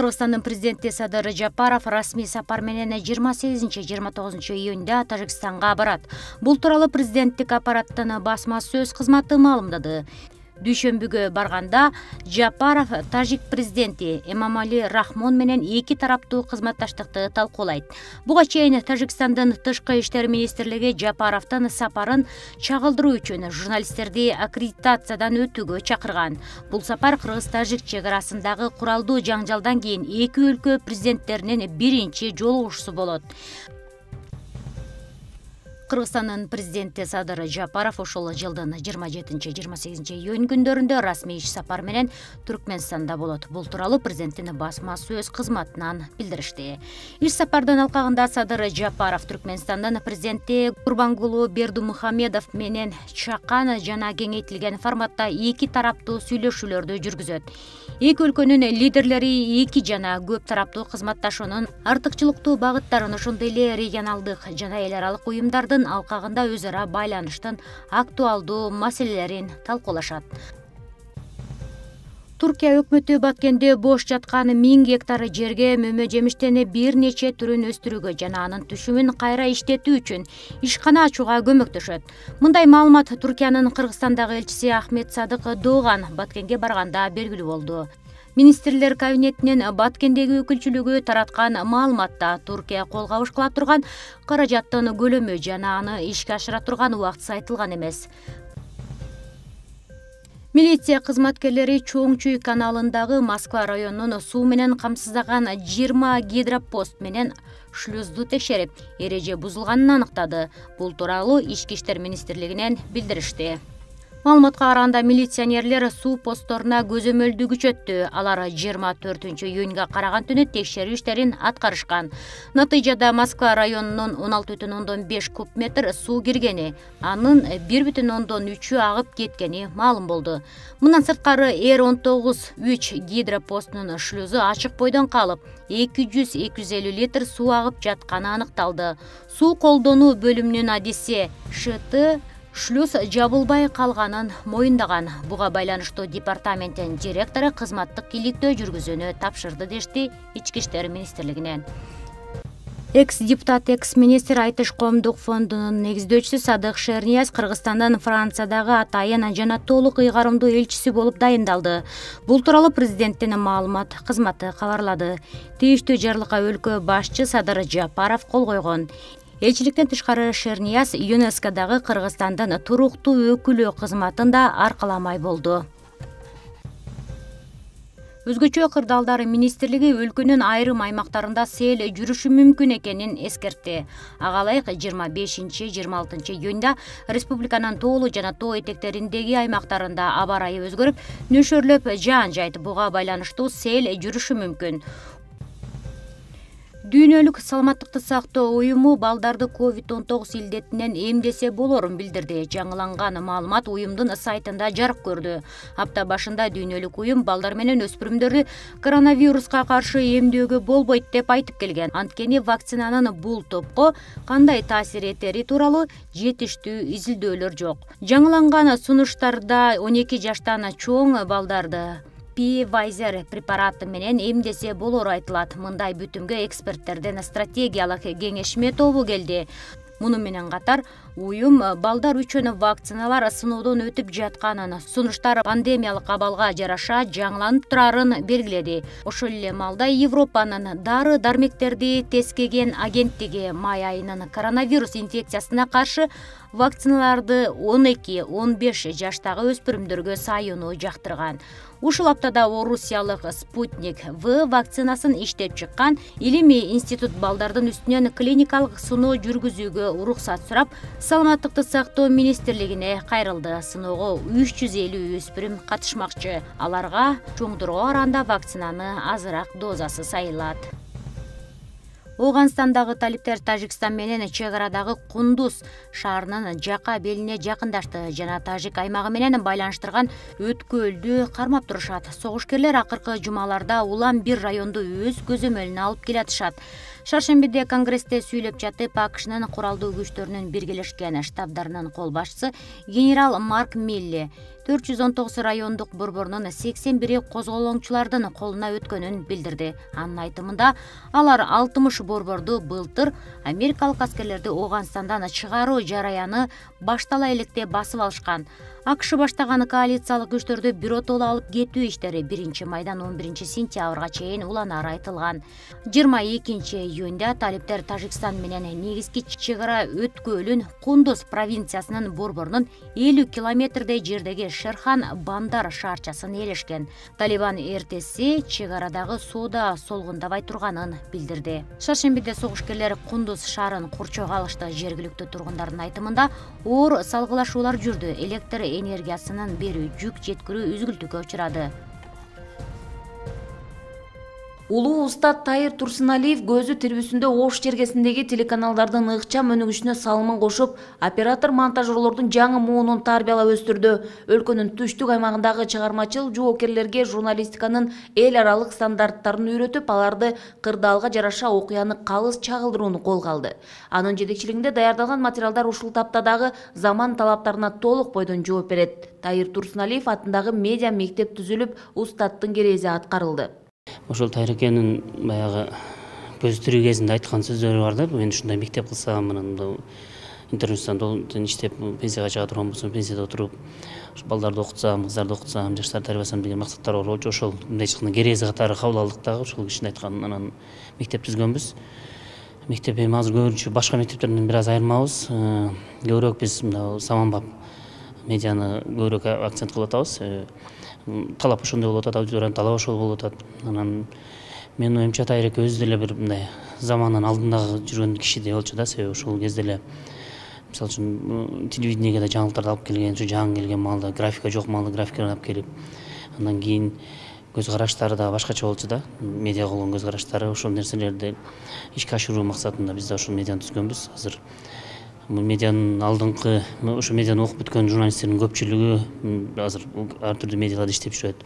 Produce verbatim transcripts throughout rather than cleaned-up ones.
Кыргызстандын президенти Садыр Жапаров расмий сапар менен жыйырма сегизинчи жыйырма тогузунчу июнда Тажикстанга барат. Бул тууралуу президенттик аппараттын басма сөз кызматы маалымдады. Дүйшөмбүгө барганда Жапаров тажик президенти Эмомали Рахмон менен эки тараптуу кызматташтыкты талкуулайт. Буга чейин Тажикстандын тышкы иштер министрлиги Жапаровдун сапарын чагылдыруу үчүн журналисттерди аккредитациядан өтүүгө чакырган. Бул сапар кыргыз-тажик чек арасындагы куралдуу жаңжалдан кийин эки өлкө президенттеринин биринчи жолугушуусу болот. Кыргызстандын президенти Садыр Жапаров ошол жылдын жыйырма жетинчи жыйырма сегизинчи июнь күндөрүндө расмий иш сапар менен Түркмөнстанда болот. Бул тууралуу президенттин басма сөз кызматынан билдиришти. Иш сапардын алкагында Садыр Жапаров Түркмөнстандын президенти Гурбангулы Бердымухамедов менен чакан жана кеңейтилген форматта эки тараптуу сүйлөшүүлөрдү жүргүзөт. Эки өлкөнүн лидерлери эки жана көп тараптуу кызматташуунун артыкчылыктуу багыттарын, ошондой эле регионалдык жана эл аралык уюмдардын алкагында өз ара байланыштын актуалдуу маселелерин талкуулашат. Туркия өкмөтү Баткенде бош жаткан миң гектар жерге мөмө жемиштен бир нече түрүн өстүрүүгө жана анын түшүмүн кайра иштетүү үчүн ишкана ачууга көмөктөшөт. Мындай маалымат Туркиянын Кыргызстандагы элчиси Ахмет Садык Дооган Баткенге барганда белгилүү болду. Министрлер кабинетинин Баткендеги өкүлчүлүгү тараткан маалыматта Туркия кол кабыш кыла турган каражаттын көлөмү жана аны ишке ашыра турган убактысы айтылган эмес. Милиция кызматкерлери Чоң Чүй каналындагы Москва районунун суу менен камсыздаган жыйырма гидропост менен шлюзду текшерип, эреже бузулганын аныктады. Бул тууралуу Ички иштер министрлигинен билдиришти. Маалыматка караганда милиционерлер суу постторуна көзөмөлдү күчөттү. Алар жыйырма төртүнчү июнга караган түнү текшерүү иштерин аткарышкан. Натыйжада Москва районунун он алты бүтүн ондон беш куб метр суу киргени, анын бир бүтүн ондон үчү агып кеткени маалым болду. Мындан сырткары Эр он тогуз үч гидропостунун шлюзу ачык бойдон калып, эки жүз эки жүз элүү литр суу агып жатканы аныкталды. Суу колдонуу бөлүмүнүн адиси ШТ шлюз жабылбай калганын моюндаган. Буга байланыштуу департаменттин директору кызматтык иликтөө жүргүзүүнү тапшырды дешти Ички иштер министрлигинен. Экс-депутат, экс-министр Айтыш коомдук фондунун негиздөөчүсү Садык Шернияз Кыргызстандын Франциядагы атайын жана толук ыйгарымдуу элчиси болуп дайындалды. Бул тууралуу президенттин маалымат кызматы кабарлады. Тийиштүү жарлыкка өлкө башчы Садыр Жапаров кол койгон. Элчиликтен тышкары Шернияз ЮНЕСКОдагы Кыргызстандын туруктуу өкүлү кызматын да аркаламай болду. Өзгөчө кырдаалдар министрлиги өлкөнүн айрым аймактарында сел жүрүшү мүмкүн экенин эскертти. Ага ылайык жыйырма бешинчи жыйырма алтынчы июнда республиканын тоолуу жана тоо этектериндеги аймактарында аба ырайы өзгөрүп, нөшөрлөп жаан жайт. Буга байланыштуу сел жүрүшү мүмкүн. Дүйнөлүк саламаттыкты сактоо уюму балдарды ковид он тогуз илдетинен эмдесе болорун билдирди. Жаңыланган маалымат уюмдун сайтында жарык көрдү. Апта башында дүйнөлүк уюм балдар менен өспүрүмдөрдү коронавируска каршы эмдөөгө болбойт деп айтып келген. Анткени вакцинанын бул топко кандай таасир этери тууралуу жетиштүү изилдөөлөр жок. Жаңыланган сунуштарда он эки жаштан чоң балдарды Pfizer препараты менен эмдесе болору айтылат. Мындай бүтүмгө эксперттерден стратегиялык кеңешме тобу келди. Муну менен катар уюм балдар үчүн вакциналар сыноодон өтүп жатканын, сунуштар пандемиялык абалга жараша жаңыланып турарын белгиледи. Ошол эле маалда Европанын дары дармектерди тескеген агенттиги май айынын коронавирус инфекциясына каршы вакциналарды он эки он беш жаштагы өспүрүмдөргө сайынуу жактырган. Ушул аптада Орусиялык Спутник В вакцинасын иштеп чыккан илимий институт балдардын үстүнөн клиникалык сыноо жүргүзүүгө уруксат сурап, саламаттыкты сактоо министрлигине кайрылды. Сыноого үч жүз элүү өспүрүм катышмакчы. Аларга чоңдурга караганда вакцинаны азыраак дозасы сайылат. Ооганстандагы талиптер Тажикстан менен чек арадагы Кундуз шаарынын жака белине жакындашты жана Тажик аймагы менен байланыштырган өткөлдү кармап турушат. Согушкерлер акыркы жумаларда улам бир районду өз көзөмөлүнө алып келатышат. Шаршембиде Конгрессте сүйлөп жатып, АКШнын куралдуу күчтөрүнүн биргелешкен штабдарынын кол башчысы генерал Марк Милли төрт жүз он тогуз райондук борборунун сексен бiri козголоңчулардын колуна өткөнүн билдирди. Анын айтымында, алар алтымыш борборду былтыр америкалык аскерлерди Ооганстандан чыгаруу жараяны баштала электе басып алышкан. АКШ баштаган коалициялык күчтөрдү биротоло алып кетүү иштери биринчи майдан он биринчи сентябрга чейин уланары айтылган. жыйырма экинчи июнда талиптер Тажикстан менен негизги чек ара өткөөлүн Кундуз провинциясынын борборунун элүү километрдей жердеги Шерхан Бандар шаарчасын ээлешкен. Талибан эртеси чек арадагы соода солгундабай турганын билдирди. Шаршембиде согушкерлер Кундуз шаарын курчоого алышты. Жергиликтүү тургундардын айтымында, оор салгылашуулар жүрдү. Электр энергиясынын берүү жүк жеткирүү үзгүлтүккө учурады. Улуу устат Тайыр Турсуналиев көзү тирбүсүндө Ош жергесиндеги телеканалдардын ыкчам өнүгүшүнө салымын кошуп, оператор монтажерлордун жаңы муунун тарбиялап өстүрдү. Өлкөнүн түштүк аймагындагы чыгармачыл жоокерлерге журналистиканын эл аралык стандарттарын үйрөтүп, аларды кырдаалга жараша окуяны калыс чагылдырууну колго алды. Анын жетекчилигинде даярдалган материалдар ушул тапта дагы заман талаптарына толук бойдон жооп берет. Тайыр Турсуналиев атындагы медиа мектеп түзүлүп, устаттын керези аткарылды. Ошол Тайыр экенин баягы көзү тирүү кезинде айткан сөздөрү бар да, мен ушундай мектеп кылсам, анан интернеттен иштеп пенсияга чыга турган болсом, пенсияда отуруп, балдарды окутсам, кыздарды окутсам, жаштарды тарбиясам деген максаттар бар болчу. Ошол мындай чыккан керези катары кабыл алдык дагы, ошол кишинин айтканын анан мектеп түзгөнбүз. Мектеп эми азыр көбүнчө башка мектептерден бир аз айырмабыз. Көбүрөөк биз мына заманбап медианы көбүрөөк акцент кылып атабыз. Талап ошондой болуп атат, аудиториянын талабы ошол болуп атат. Анан менин оюмча Тайыр эке өзү деле бир мындай заманын алдындагы жүргөн кишидей болчу да, себеби ошол кезде эле мисалы үчүн телевидениеге да жаңылыктарды алып келген, ушу жаңы келген маалда графика жок маалда графиканы алып келип, андан кийин көз караштары да башкача болчу да, медиа болгон көз караштары, ошол нерселерди ишке ашыруу максатында биз да ушул медианы түзгөнбүз. Азыр медианын алдыңкы, ошо медианы окуп бүткөн журналисттердин көпчүлүгү азыр ар түрдүү медиаларда иштеп жүрөт.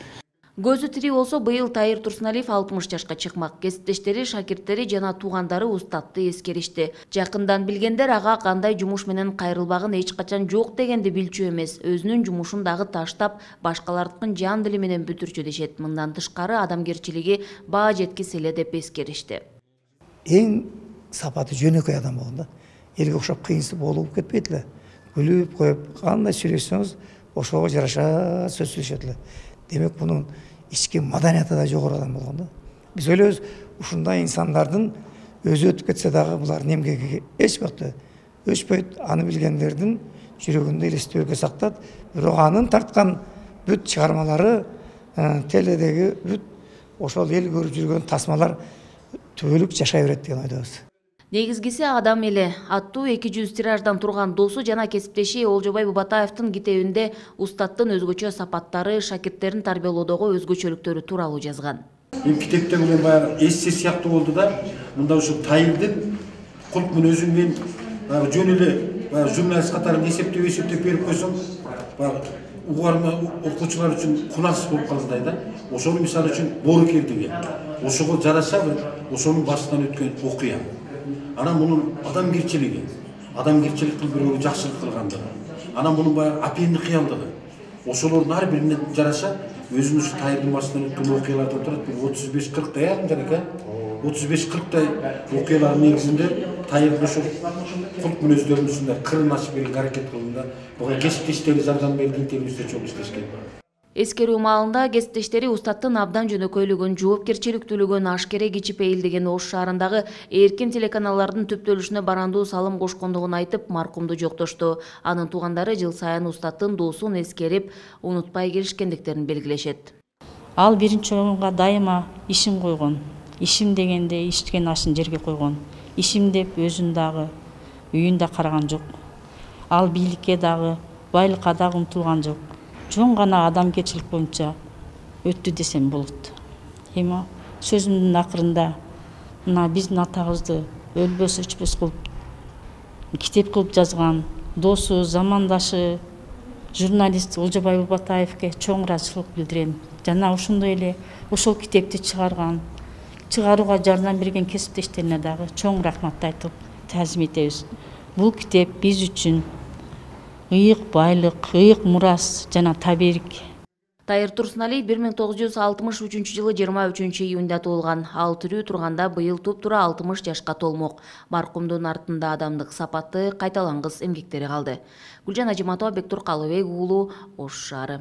Көзү тирүү болсо, быйыл Тайыр Турсуналиев алтымыш жашка чыкмак. Кесиптештери, шакирттери жана туугандары устатты эскеришти. Жакындан билгендер ага кандай жумуш менен кайрылбагын эч качан жок дегенди билчү эмес. Өзүнүн жумушун дагы таштап, башкалардыкын жан дили менен бүтүрчү дешет. Мындан тышкары адамгерчилиги баа жеткис эле деп эскеришти. Эң сапаты жөнөкөй адам болгон да. Элге окшоп кыйынсыз болуп кетпейт эле. Күлүп коюп, кандай сүйлөшсөңүз ошого жараша сөз сүйлөшөт эле. Демек, бунун ички маданияты да жогору адам болгон да. Биз ойлойбуз, ушундай инсандардын өзү өтүп кетсе дагы булардын эмгеги эч убакта өчпөйт. Аны билгендердин жүрөгүндө элестөөгө сактат. Бирок анын тарткан бүт чыгармалары, теледеги бүт ошол эл көрүп жүргөн тасмалар түбөлүк жашай берет деген ойдобуз. Негизгиси адам эле аттуу эки жүз тираждан турган досу жана кесиптеши Олжобай Бубатаевдин китебинде устаттын өзгөчө сапаттары, шакирттерин тарбиялоодогу өзгөчөлүктөрү тууралуу жазган. Эми китепте менен баягы эссе сыяктуу болду да, мында ушул Тайырдын кулк мүнөзүн мен баягы жөн эле журналист катары эсептеп эсептеп берип койсом, баягы угарма окуучулар үчүн кунарсыз болуп калгандай да. Ошону мисалы үчүн боорукердиги, ошого жарашабы, ошонун башынан өткөн окуя. Анан мунун адамгерчилиги, адамгерчилик кылып бирөөгө жакшылык кылгандыгы, анан мунун баягы апендик кыялдыгы, ошолордун ар бирине жараша өзүнүн ушу Тайырдын башынан өткөн окуялардан турат. Бир отуз беш кырктай ярым жана экен. отуз беш кырктай окуялардын негизинде Тайырдын ошол кулк мүнөздөрүнүн ушундай кырын ачып берүүгө аракет кылганда, буга кесиптештери жардам берди, интервьюсүдө чоң иштешкен. Эскерүү маалында кесиптештери устаттын абдан жөнөкөйлүгүн, жоопкерчиликтүүлүгүн, ашкере кичипейилдигин, Ош шаарындагы эркин телеканалдардын түптөлүшүнө барандуу салым кошкондугун айтып, маркумду жоктошту. Анын туугандары жыл сайын устаттын доосун эскерип, унутпай келишкендиктерин белгилешет. Ал биринчи орунга дайыма ишин койгон. Ишим дегенде иштеген ашын жерге койгон. Ишим деп өзүн дагы, үйүн да караган жок. Ал бийликке дагы, байлыкка дагы умтулган жок. Жон гана адамгерчилик боюнча өттү десем болот. Эми сөзүмдүн акырында мына биздин атабызды өлбөс өчпөс кылып китеп кылып жазган досу, замандашы журналист Олжобай Бубатаевке чоң ыраазычылык билдирем. Жана ошондой эле ошол китепти чыгарган чыгарууга жардам берген кесиптештерине дагы чоң рахматты айтып таазим этебиз. Бул китеп биз үчүн ыйык байлык, ыйык мурас жана таберик. Тайыр Турсуналиев бир миң тогуз жүз алтымыш үчүнчү жылы жыйырма үчүнчү июнда туулган. Ал тирүү турганда быйыл туп-туура алтымыш жашка толмок. Маркумдун артында адамдык сапаты, кайталангыс эмгектери калды. Гүлжан Ажиматова, Бектур Калыбек уулу, Ош шаары.